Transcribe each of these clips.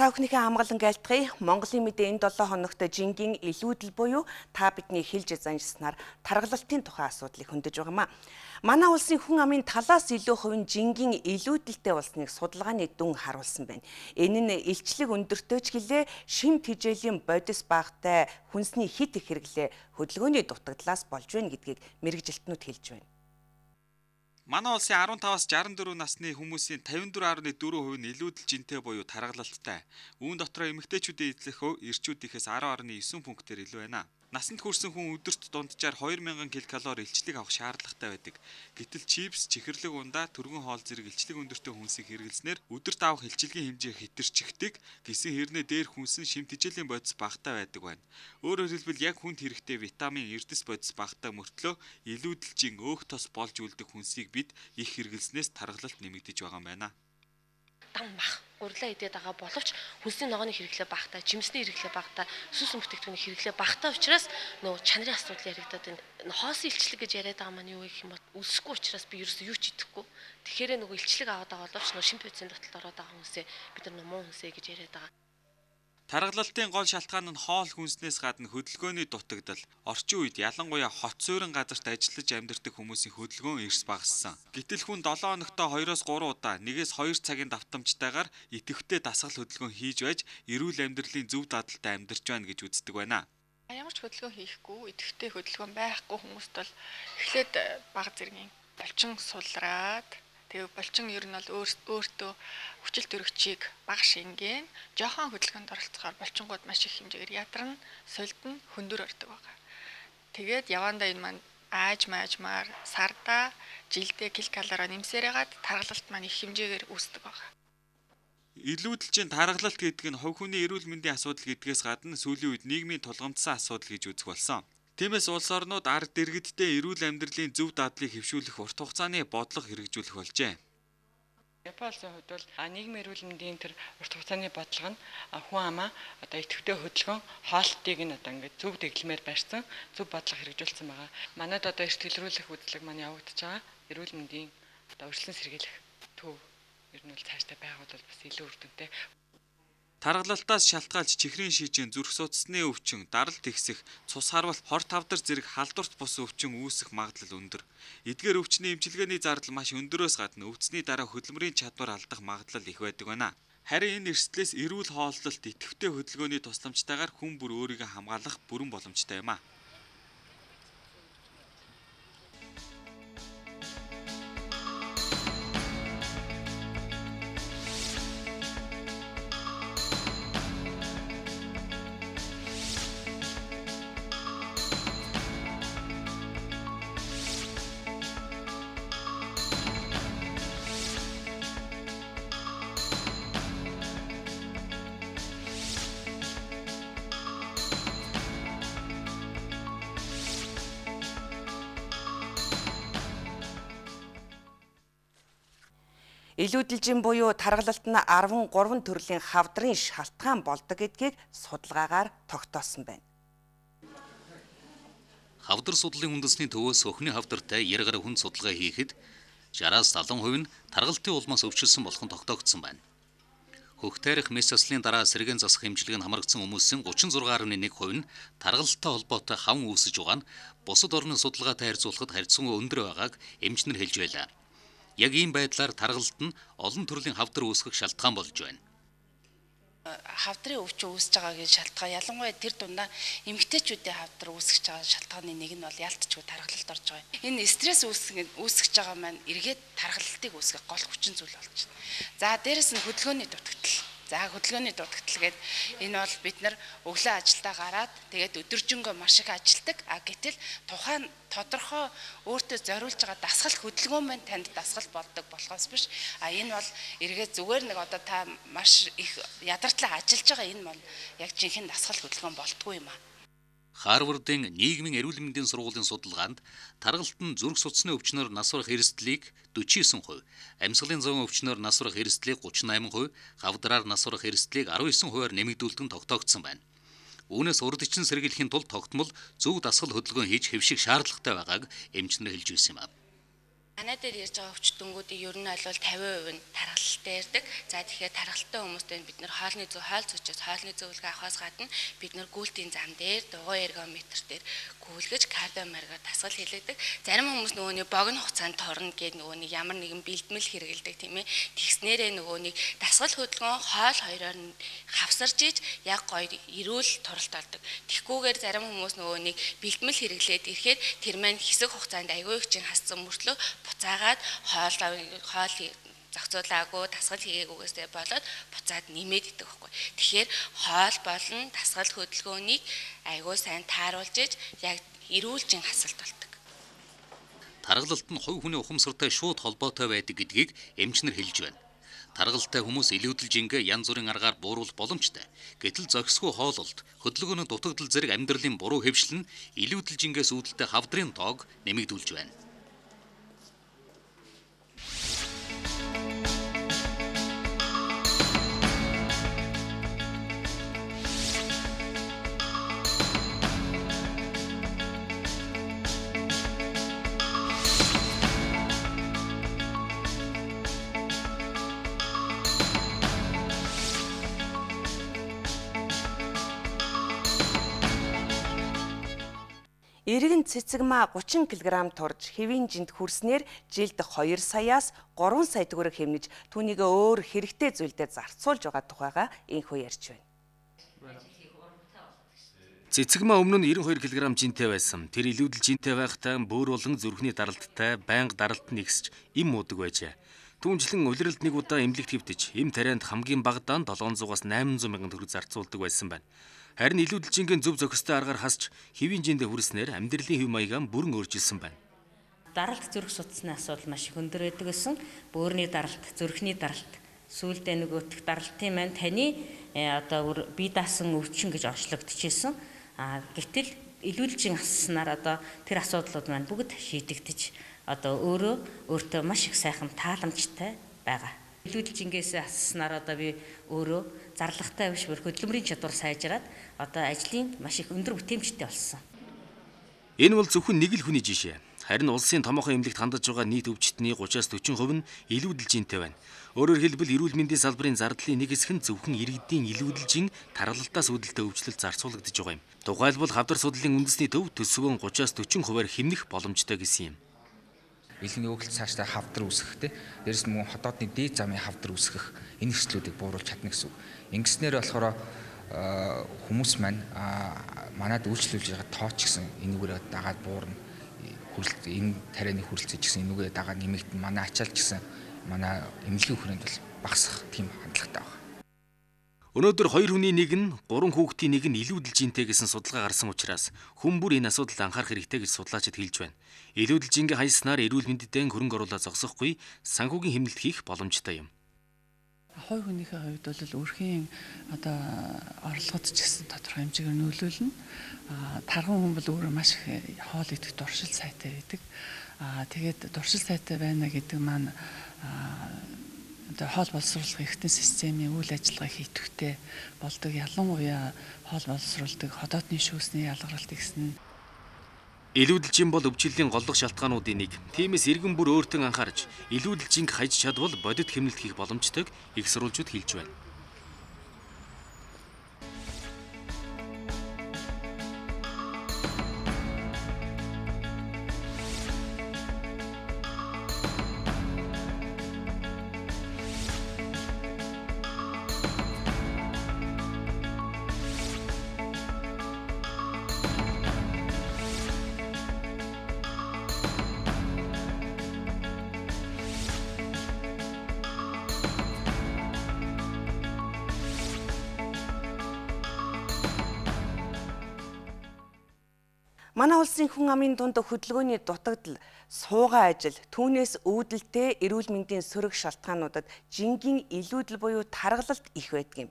Та бүхнийхээ хамгаалан айлтгая. Монголын мэдээ энэ 7 хоногт жингийн илүүдэл буюу та бидний хэлж занжснаар таргалалтын тухай асуудлыг хөндөж байгаамаа. Манай улсын хүн амын талаас илүү хувь нь жингийн илүүдэлтэй болсныг судалгааны дүн харуулсан байна. Энэ нь илчлэг өндөртэй ч гэлээ шимт хижээлийн бодис багтай хүнсний хит их хэрэглээ хөдөлгөөний дутагдлаас болж байна гэдгийг мэргэжилтнүүд хэлж байна. Манай улсын 15-аас 64 насны хүмүүсийн 54.4% нь илүүдэл жинтэй буюу таргалалттай. Үүн дотроо эмэгтэйчүүдийн эзлэх хувь эрчүүд ихээс 10.9 пунктээр илүү байна. Насанд хүрсэн хүн өдөрт дунджаар 2000 ккал илчлэг авах шаардлагатай байдаг. Гэтэл чипс, чихэрлэг ундаа, түргэн хоол зэрэг илчлэг өндөртэй хүнсийг хэрэглэснээр өдөрт авах илчилгийн хэмжээ хэтэрчихдэг. Гэсэн хэрнээ дээр хүнсэн шимт хижээлийн бодис багтаа байдаг байна. Өөрөөр хэлбэл яг хүнд хэрэгтэй витамин, эрдэс бодис багтаа мөртлөө илүүдэлжин өөх тос болж үлдэх хүнсийг бид их хэрэглэснээс таргалалт нэмэгдэж байгаа юм байна. Дан мах гурлаа идээд байгаа боловч хүнсний ногооны хэрэглээ багтаа, жимсний хэрэглээ багтаа, сүс бүтээгдэхүүний хэрэглээ багтаа учраас нөгөө чанарын асуудал яригадаад байна. Хоосон илчлэг гэж яриад байгаа маань юу гэх юм бол үлсэхгүй учраас би ерөөсөө юу ч идэхгүй. Тэгэхээр нөгөө илчлэг аваад байгаа боловч нөгөө шимт бодисын дотолд ороод байгаа хүнсээ бид нар муу хүнсээ гэж яриад байгаа. Таргалалтын гол шалтгаан нь хоол хүнснээс гадна хөдөлгөөний дутагдал. Орчин үед ялангуяа хот суурин газарт ажиллаж амьдардаг хүмүүсийн хөдөлгөөн эрс багассан. Гэтэл хүн 7 хоногтоо 2-3 удаа 1-2 цагийн давтамжтайгаар идэвхтэй дасгал хөдөлгөөн хийж байж эрүүл амьдралын зөв дадлалтай амьдарч байна гэж үздэг байна. Ямар ч хөдөлгөөн хийхгүй, идэвхтэй хөдөлгөөн байхгүй хүмүүст бол эхлээд бага зэргийн булчин сулраад тэгээ булчин ер нь бол өөртөө хүчил төрөгчийг бага шингэн жоохон хөдөлгөөнд оролцохоор булчингууд маш их хэмжээгээр ядарна, сольдно, хөндөр ордог байгаа. Тэгээд явандаа энэ маань ааж-маажмаар сарда жилдээ килокалороо нэмсээрээгаад таргалалт маань их хэмжээгээр үүсдэг байгаа. Илүүдэлжин таргалалт гэдэг нь хувь хүний эрүүл мэндийн асуудал гэдгээс гадна сүүлийн үед нийгмийн тулгамдсан асуудал гэж үзэх болсон. Тиймээс улс орнууд ард иргэдтэй эрүүл амьдралын зөв дадлыг хэвшүүлэх урт хугацааны бодлого хэрэгжүүлэх болжээ. Японы хувьд бол нийгмийн эрүүл мэндийн тэр урт хугацааны бодлого нь хүн амаа одоо идэвхтэй хөдөлгөөн хоолтыг нь одоо ингээд зөв дэглэмээр барьсан зөв бодлого хэрэгжүүлсэн байгаа. Манайд одоо эрт илрүүлэх үйлчлэг маань явагдаж байгаа. Эрүүл мэндийн одоо өршлөн сэргийлэх төв ер нь бол цаашдаа байгуулвал бас илүү үр дүнтэй. Таргалалтаас шалтгаалж чихрийн шижин, зүрх судасны өвчин, даралт ихсэх, цус харвалт, хор тавдар зэрэг халдварт бус өвчин үүсэх магадлал өндөр. Эдгээр өвчний эмчилгээний зардал маш өндөрөөс гадна өвцний дараа хөдөлмөрийн чадвар алдах магадлал их байдаг байна. Харин энэ эрсдлээс эрүүл хооллолт, идэвхтэй хөдөлгөөний тусламжтайгаар хүн бүр өөрийгөө хамгаалах бүрэн боломжтой юм а. Илүүдэлжин буюу таргалалт нь 13 төрлийн хавдрын шалтгаан болдог гэдгийг судалгаагаар тогтоосон байна. Хавдар судлалын үндэсний төвөөс өхний хавдартай яргаар хүн судалгаа хийхэд 60-аас 70% нь таргалтын улмаас өвчлсөн болох нь тогтоогдсон байна. Хөх тарих мэс заслын дараа сэргэн засах хэмжлэг нь хамрагдсан хүмүүсийн 36.1% нь таргалттай холбоотой хавн үүсэж байгаа нь бусад орны судалгаатай харьцуулахад харьцангуй өндөр байгааг эмчнэр хэлж байлаа. Яг ийм байдлаар таргалалт нь олон төрлийн хавдар үүсгэх шалтгаан болж байна. Хавдрын өвчин үүсэж байгаагийн шалтгаан ялангуяа тэр дундаа эмэгтэйчүүдийн хавдар үүсгэж байгаа шалтгааны нэг нь бол ялтчгүй таргалалт орж байгаа. Энэ стресс үүсгэж байгаа маань эргээд таргалалтыг үүсгэх гол хүчин зүйл болж байна. За дээрэс нь хөдөлгөөний дутагдал. За хөдөлгөөний дутагдал гэдэг энэ бол бид нар өглөө ажилдаа гараад тэгээд өдөржингөө маш их ажилдаг. Гэтэл тухайн тодорхой өөртөө зориулж байгаа дасгал хөдөлгөөн маань танд дасгал болдог болохоос биш. Энэ бол эргээд зүгээр нэг одоо та маш их ядартлаа ажиллаж байгаа энэ бол яг жинхэнэ дасгал хөдөлгөөн болтгүй юм аа. Харвардын нийгмийн эрүүл мэндийн сургуулийн судалгаанд таргалалт нь зүрх судасны өвчнөөр нас барах эрсдлийг 49%, амьсгалын зовын өвчнөөр нас барах эрсдлийг 38%, хавдраар нас барах эрсдлийг 19%-аар нэмэгдүүлдэг нь тогтоогдсон байна. Үүнээс урд ичин сэргийлэхийн тулд тогтмол зөв дасгал хөдөлгөөн хийж хэвших шаардлагатай байгааг эмчнэр хэлж байсан юм. Манай дээр ярьж байгаа өвчтөнгүүдийн ер нь бол 50% нь тархалттай ирдэг. За тэгэхээр тархалттай хүмүүстэй бид нэр хоолны зүйчээс хоолны зөвлөгөө авахаас гадна бид нэр гүйлтийн зам дээр дугуй эргометр дээр гүйлгэж кардиомаргаар дасгал хийлэгдэг. Зарим хүмүүс нөгөөний богино хугацаанд торно гэдэг нөгөөний ямар нэгэн бэлтгэл хэрэгэлдэг тийм ээ. Тэгснээрээ нөгөөний дасгал хөдөлгөөн хоол хоёроор нь хавсарж иж яг гоё эрүүл туралт олдог. Тэгхгүйгээр зарим хүмүүс нөгөөний бэлтгэл хэрэглээд ирэхээр тэр маань хэсэг хугацаанд аягүй их чин хассан мөртлөө буцаагаад хоол зохицуулаагүй дасгал хийгээгүйгээсээ болоод буцаад нэмээд идэх байхгүй. Тэгэхээр хоол болон дасгал хөдөлгөөнийг аягүй сайн тааруулж иж яг эрүүлжин хасалт болдог. Таргалалт нь хувь хүний ухамсартай шууд холбоотой байдаг гэдгийг эмчнэр хэлж байна. Таргалтай хүмүүс илүүдэл жингээ янз бүрийн аргаар бууруулах боломжтой. Гэтэл зохисгүй хоололт, хөдөлгөөний дутагдал зэрэг амьдралын буруу хэвшил нь илүүдэл жингээс үүдэлтэй хавдрын тоог нэмэгдүүлж байна. Иргэн цэцэгмаа 30 кг турж хэвийн жинд хүрснээр жилд 2 саяас 3 сая төгрөг хэмнэж түүнийг өөр хэрэгтэй зүйлдээ зарцуулж байгаа тухайга энхүү ярьж байна. Цэцэгмаа өмнө нь 92 кг жинтэй байсан. Тэр илүүдэл жинтэй байхдаа бөөр болон зүрхний даралттай байнга даралт нэгсэж им муудаг байжээ. Түүнчлэн улиралд нэг удаа эмнэлэгт хэвтэж, эм тарианд хамгийн багадаа 700-аас 800 мянган төгрөг зарцуулдаг байсан байна. Харин илүүдэл жингийн зөв зохистой аргаар хасч хэвийн жиндээ хүрснээр амьдралын хэв маягаа бүрэн өөрчилсөн байна. Даралт зүрх судасны асуудал маш их өндөр байдаг гэсэн. Бөөрийн даралт, зүрхний даралт, сүүлдээ нөгөөх даралтын маань таны одоо бие даасан өвчин гэж орчлогдчихсэн. Гэтэл илүүдэл жин хасснаар одоо тэр асуудлууд маань бүгд шийдэгдэж одоо өөртөө маш их сайхан тааламжтай байгаа. Илүүдэл жингээс хасснаар одоо би өөрөө зарлагтай биш бүр хөдөлмөрийн чадвар сайжраад одоо ажлын маш их өндөр бүтээмжтэй болсон. Энэ бол зөвхөн нэг л хүний жишээ. Харин улсын томоохон эмнэлэгт хандаж байгаа нийт өвчтний 30-40% нь илүүдэл жинтэй байна. Өөрөөр хэлбэл эрүүл мэндийн салбарын зардлын нэг хэсэг нь зөвхөн иргэдийн илүүдэл жин тархалтаас үүдэлтэй өвчлөлт зарцуулагдаж байгаа юм. Тухайлбал хавдар судлалын үндэсний төв төсвөө 30-40% хэмнэх боломжтой гэсэн юм. Илгийн өгөлт цаашдаа хавдар үүсгэхтэй. Дээрэс нь мөн хотоодны дээд замын хавдар үүсгэх энэ эрсдлүүдийг бууруулж чадна гэсэн үг. Ингэснээр болохоор хүмүүс маань манад үйлчлүүлж байгаа тооч гэсэн энүүгээр дагаад буурна. Энэ тарианы хүрэлцэж гэсэн энүүгээ дагаад нэмэгдэн манай ачаалж гэсэн манай эмнэлгийн хүрээнд бол багасах тийм хандлагатай байна. Өнөөдөр 2 хүний нэг нь 3 хүүхдийн нэг нь илүүдэл жинтэй гэсэн судалгаа гарсан учраас хүн бүр энэ асуудалд анхаарах хэрэгтэй гэж судлаачид хэлж байна. Илүүдэл жингээ хайснаар эрүүл мэндэд хөрөнгө оруулалт зогсохгүй санхүүгийн хэмнэлт хийх боломжтой юм. Хой хүнийхээ хувьд бол өрхийн одоо орлогод ч гэсэн тодорхой хэмжээгээр нөлөөлнө. Тархан хүн бол өөрөө маш их хоол идэх дуршил сайтай байдаг. Тэгээд дуршил сайтай байна гэдэг маань одоо хоол боловсруулах эрхтэн системийн үйл ажиллагаа хийтвэхтэй болдог. Ялангуяа хоол боловсруулдаг хотоодны шүүсний ялгаралт гэсэн. Илүүдэл жин бол өвчлөлийн голлох шалтгаануудын нэг. Тиймээс иргэн бүр өөртөө анхаарч илүүдэл жинг хайж чадвал бодит хэмнэлт хийх боломжтойг их сурвалжууд хэлж байна. Манай улсын хүн амын дунд хөдөлгөөний дутагдал, суугаа ажил, түүнээс үүдэлтэй эрүүл мэндийн сөрөг шалтгаануудад жингийн илүүдэл буюу таргалалт их байдаг юм.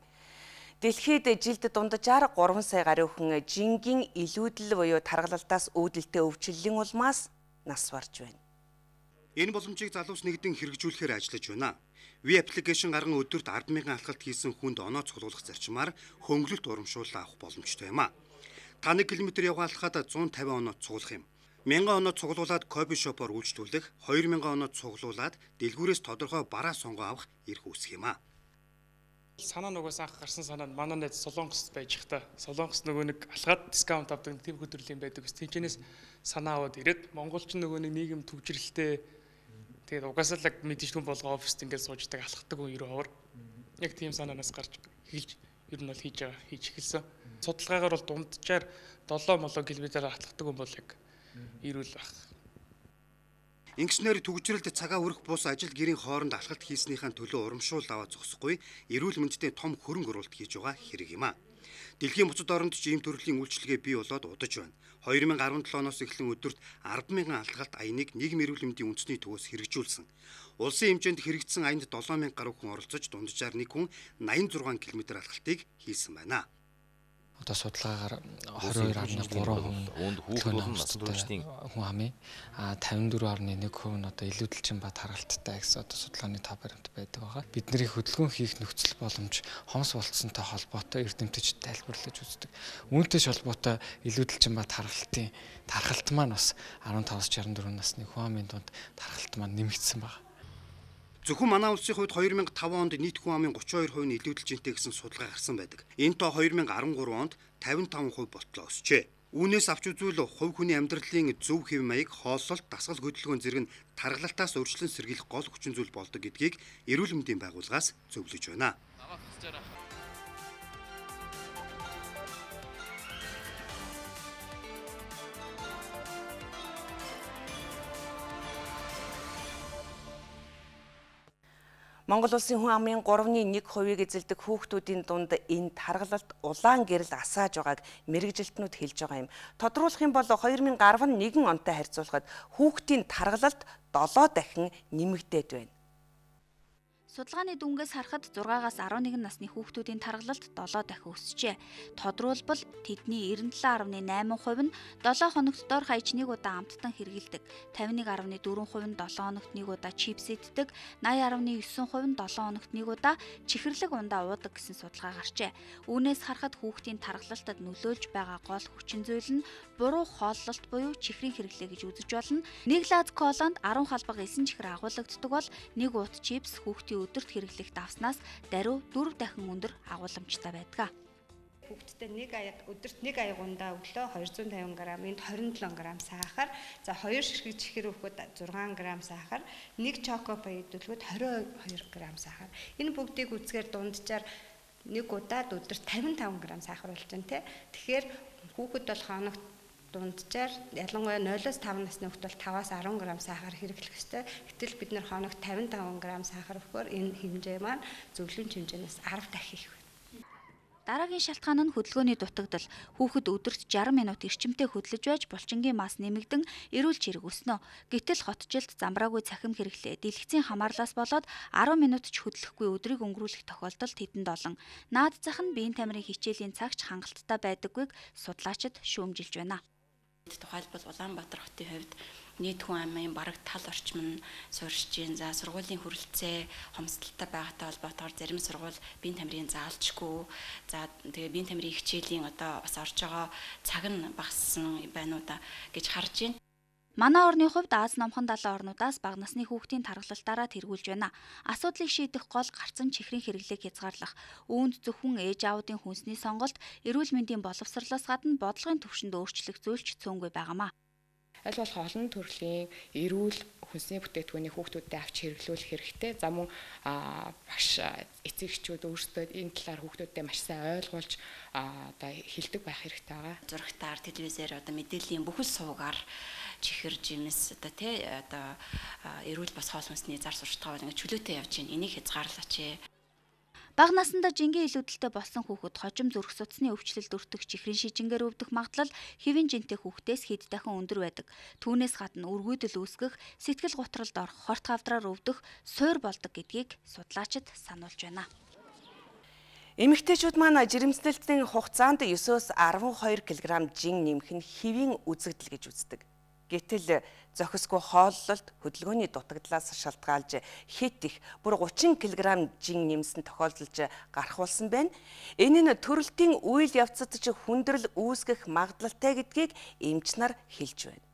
Дэлхийд жилд дунджаар 3 сая гаруй хүн жингийн илүүдэл буюу таргалалтаас үүдэлтэй өвчлөлийн улмаас нас барж байна. Энэ боломжийг залуус нэгдэн хэрэгжүүлэхээр ажиллаж байна. Ви аппликейшн гарган өдөрт 10,000 алхалт хийсэн хүнд оноо цуглуулах зарчмаар хөнгөлөлт урамшуулал авах боломжтой юм а. 1 км явгаалахад 150 оноо цуглах юм. 1000 оноо цуглуулад кофе шопоор үйлчлүүлэх, 2000 оноо цуглуулад дэлгүүрээс тодорхой бараа сонгоо авах эрх үүсэх юм а. Санаа нөгөөс анх гарсан санаа нь манай найз Солонгост байж хта. Солонгос нөгөө нэг алхаад дискаунт авдаг тэв хөдөлгөөний байдаг. Тэнчнээс санаа аваад ирээд монголч нөгөө нэг нийгэм төвжрэлтэй тэгээд угаасаа л мэдээж түн болгоо оффист ингээд сууждаг алхахдаг хүн ерөө авар. Яг тийм санаанаас гарч эхэлж ер нь бол хийж эхэлсэн. Судалгаагаар бол дунджаар 7 км алхахдаг хүн бол яг ирүүл баг. Ингэснээр төгжрэлд цагаа өрөх бус ажил гэрийн хооронд алхалт хийснийхэн төлөө урамшуул аваад зогсохгүй эрүүл мэндэд том хөрөнгө оруулалт хийж байгаа хэрэг юм а. Дэлхийн буцад оронд ч ийм төрлийн үйлчилгээ бий болоод удаж байна. 2017 оноос эхлэн өдөрт 10,000 алхалт аяныг нийгэм эрүүл мэндийн үндэсний төвөөс хэрэгжүүлсэн. Улсын хэмжээнд хэрэгжсэн аянд 7,000 гаруй хүн оролцож дунджаар нэг хүн 86 км алхалтыг хийсэн байна. Одоо судалгаагаар 22.3% хүүхдүүд насны туршийн хүн амын 54.1% нь одоо илүүдэлчин ба таргалттай гэсэн одоо судалгааны тав баримт байдаг байгаа. Бидний хөдөлгөөн хийх нөхцөл боломж хомс болцсонтой холбоотой эрдэмтэд тайлбарлаж үздэг. Үүнтэй холбоотой илүүдэлчин ба таргалт маань бас 15-64 насны хүн амын дунд таргалт маань нэмэгдсэн байна. Зөвхөн манай улсын хувьд 2005 онд нийт хүн амын 32% нь илүүдэлжинтэй гэсэн судалгаа гарсан байдаг. Энэ тоо 2013 онд 55% болтлоо өсчээ. Үүнээс авч үзвэл хувь хүний амьдралын зөв хэв маяг, хооллолт, дасгал хөдөлгөөн зэрэг тархалтаас урьдчилан сэргийлэх гол хүчин зүйл болдог гэдгийг эрүүл мэндийн байгууллагаас зөвлөж байна. Монгол улсын хүн амын 3.1%-ийг эзэлдэг хүүхдүүдийн дунд энэ таргалалт улаан гэрэл асааж байгааг мэрэгжилтнүүд хэлж байгаа юм. Тодруулах юм бол 2011 онтой харьцуулахад хүүхдийн таргалалт 7 дахин нэмэгдээд байна. Судалгааны дүнгээс харахад 6-аас 11 насны хүүхдүүдийн таргалалт 7 дахин өсжээ. Тодруулбал тэдний 97.8% нь 7 хоногт дор хаяж нэг удаа амттан хэргэлдэг, 51.4% нь 7 хоногт нэг удаа чипс иддэг, 80.9% нь 7 хоногт нэг удаа чихэрлэг ундаа уудаг гэсэн судалгаа гарчээ. Үүнээс харахад хүүхдийн таргалалтад нөлөөлж байгаа гол хүчин зүйл нь буруу хооллолт буюу чихрийн хэрэглээ гэж үзэж болно. Нэг лаз колонд 10 халбаг эсэн чихэр агуулгаддаг бол нэг уут чипс хүүхдийн өдөрт хэрэглэх давснаас даруй 4 дахин өндөр агууламжтай байдаг. Хүүхдтэй өдөрт нэг аягундаа өглөө 250 г, энд 27 г сахар, за 2 ширхэг чихэр өгөхөд 6 г сахар, нэг чоко баяд төлөхөд 22 г сахар. Энэ бүгдийг үзэхээр дунджаар нэг удаад өдөрт 55 г сахар болж байна те. Тэгэхээр хүүхэд бол хоногт дунджаар ялангуяа 0-5 насны хүүхэд бол 5-аас 10 г сахар хэрэглэх ёстой. Гэтэл бид нэр хоногт 55 г сахар өгөхөөр энэ хэмжээ маань зөвлөмж хэмжээнээс 10 дахин их байна. Дараагийн шалтгаан нь хөдөлгөөний дутагдал. Хүүхэд өдөрт 60 минут эрчимтэй хөдлөж байж булчингийн мас нэмэгдэн эрүүл чирэг өснө. Гэтэл хотжилт замбраагүй цахим хэрэглээ, дэлгэцийн хамаарлаас болоод 10 минут ч хөдлөхгүй өдрийг өнгөрүүлэх тохиолдолд хэдэнд олон. Наад зах нь биеийн тамирын хичээлийн цагч хангалттай байдаггүйг судлаачид шүүмжилж байна. Тухайлбал Улаанбаатар хотын хувьд нийт хүн амын бараг тал орчим нь суурьшиж байна. За сургуулийн хүрэлцээ хомсдолтой байгаатай холбоотойгоор зарим сургууль биеийн тамирын заалчгүй. За тэгээ биеийн тамирын хичээлийн одоо бас орж байгаа цаг нь багассан байна уу да гэж харж байна. Манай орны хувьд Аз номхон далайн орнуудаас бага насны хүүхдийн таргалалтаараа тэргүүлж байна. Асуудлыг шийдэх гол гарцсан чихрийн хэрэглээг хязгаарлах. Үүнд зөвхөн ээж аавуудын хүнсний сонголт, эрүүл мэндийн боловсролоос гадна бодлогын түвшинд өөрчлөх зүйлч цөөнгүй байгаамаа. Аль болох олон төрлийн эрүүл хүнсний бүтээгдэхүүнийг хүүхдүүдэд авч хэрэглүүлэх хэрэгтэй. За мөн багш эцэгчүүд өөрсдөө энэ талаар хүүхдүүдэд маш сайн ойлгуулж одоо хэлдэг байх хэрэгтэй байгаа. Зурагтаар, телевизээр одоо мэдээллийн бүхэл суугаар чихэр жимс одоо тий одоо эрүүл бас хоол хүнсний зар сурталчилгаа бол ингээд чөлөөтэй явж байна. Энийг хязгаарлаач. Бага насндаа жингийн илүүдэлтэй болсон хүүхэд хожим зүрх судасны өвчлөлд өртөх чихрийн шижингээр өвдөх магадлал хэвийн жинтэй хүүхдээс хэд дахин өндөр байдаг. Түүнээс гадна үргүйдэл үүсгэх, сэтгэл гутралд орох, хорт хавдраар өвдөх суур болдог гэдгийг судлаачид сануулж байна. Эмэгтэйчүүд маань жирэмснэлтийн хугацаанд 9-өөс 12 кг жин нэмэх нь хэвийн үзэгдэл гэж үздэг. Гэтэл зохисгүй хооллолт хөдөлгөөний дутагдлаас шалтгаалж хэд их бүр 30 кг жин нэмсэн тохиолдолж гарах болсон байна. Энэ нь төрөлтийн үйл явцад ч хүндрэл үүсгэх магадлалтай гэдгийг эмч нар хэлж байна.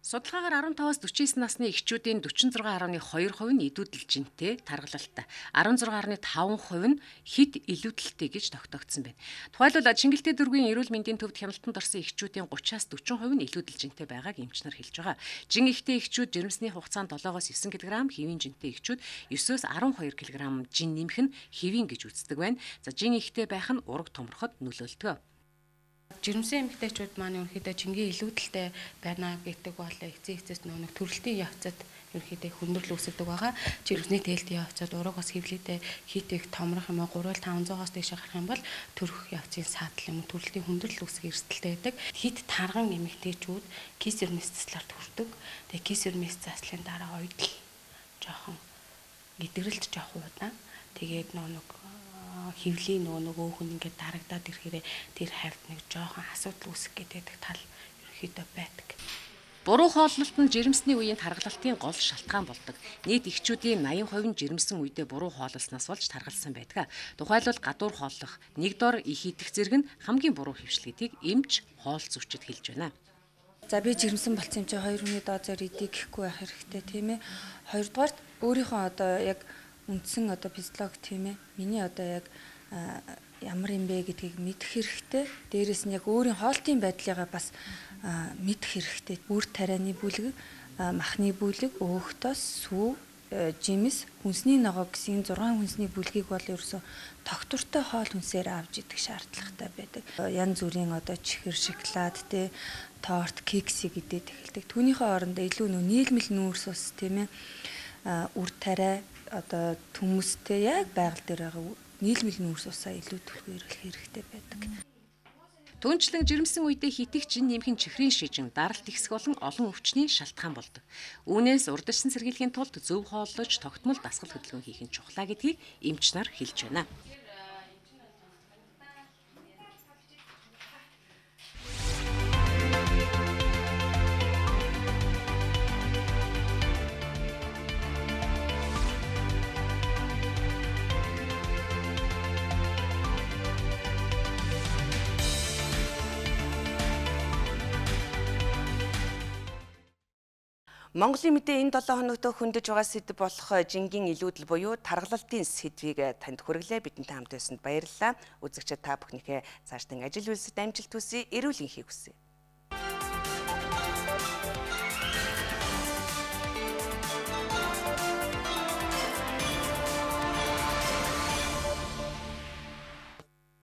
Судалгаагаар 15-аас 49 насны эхчүүдийн 46.2% нь идүүдэл жинтэй таргалалтай, 16.5% нь хэд илүүдэлтэй гэж тогтоогдсон байна. Тухайлбал Чингэлтэй дүүргийн эрүүл мэндийн төвд хяналтанд орсон эхчүүдийн 30-аас 40% нь илүүдэл жинтэй байгааг эмчнэр хэлж байгаа. Жин ихтэй эхчүүд жирэмсний хугацаанд 7-оос 9 кг, хэвийн жинтэй эхчүүд 9-өөс 12 кг жин нэмэх нь хэвийн гэж үздэг байна. За жин ихтэй байх нь ураг томроход нөлөөлдөг. Жирэмсэн эмэгтэйчүүд маань ерөнхийдөө жингийн илүүдэлтэй байна гэдэг бол эцээс нэг төрөлтийн явцад ерөнхийдөө хүндрэл үүсгдэг байгаа. Жирэмсний тээлтийн явцад ураг бас хэвлэлтэй хит их томрох юм уу 3-500-аас дээш гарах юм бол төрөх явцын саатал юм төрөлтийн хүндрэл үүсгэх эрсдэлтэй байдаг. Хит тарган эмэгтэйчүүд кисермис заслаар төрдөг. Тэгээ кисермис заслын дараа ойдл жоохон идэгрэлт жоохон удаа. Тэгээд нэг хөвлийн нөгөө хүн ингээд дарагдаад ирэхээр тэр хавьд нэг жоохон асуудал үүсэх гэдэг тал ерөнхийдөө байдаг. Буруу хооллолт нь жирэмсний үеийн таргалалтын гол шалтгаан болдог. Нийт эхчүүдийн 80% нь жирэмсэн үедээ буруу хооллолсноос болж таргалсан байдаг. Тухайлбал гадуур хооллох, нэг дор их идэх зэрэг нь хамгийн буруу хэвшил гэдгийг эмч хоол зүйчид хэлж байна. За би жирэмсэн болсон юм чи 2 хүний дозоор идэх гэхгүй байх хэрэгтэй тийм ээ. Хоёрдугаарт өөрийнхөө одоо яг үндсэн одоо физиолог тийм ээ. Миний одоо яг ямар юм бэ гэдгийг мэдэх хэрэгтэй. Дээрээс нь яг өөрийн хоолтын байдлыгаа бас мэдэх хэрэгтэй. Үр тарианы бүлэг, махны бүлэг, өөхтөс, сүү, жимс, хүнсний ногоо гэсэн 6 хүнсний бүлгийг бол ерөөсө тогтвортой хоол хүнсээр авч идэх шаардлагатай байдаг. Янз бүрийн одоо чихэр, шоколад, торт, кекси гэдэг эхэлдэг. Түүнийхээ орондоо илүү нийлмэл нүүрс ус тийм ээ. Үр тариа одоо төмөстэй яг байгаль дээр байгаа нийлмэл нүүрс усаа илүү түлхүүрэх хэрэгтэй байдаг. Түүнчлэн жирэмсэн үедээ хитэх жин нэмэх нь чихрийн шижин, даралт ихсэх болон олон өвчний шалтгаан болдог. Үүнээс урдчсан сэргийлэхийн тулд зөв хооллож тогтмол дасгал хөдөлгөөн хийх нь чухлаа гэдгийг эмч нар хэлж байна. Монголын мэдээ энэ 7 хоногт хөндөж байгаа сэдв болох жингийн илүүдэл буюу таргалалтын сэдвийг танд хүргэлээ. Бидэнтэй хамт байсанд баярлалаа. Үзэгчид та бүхнийхээ цаашдын ажил үйлсэд амжилт хүсье. Эрүүл энхийг хүсье.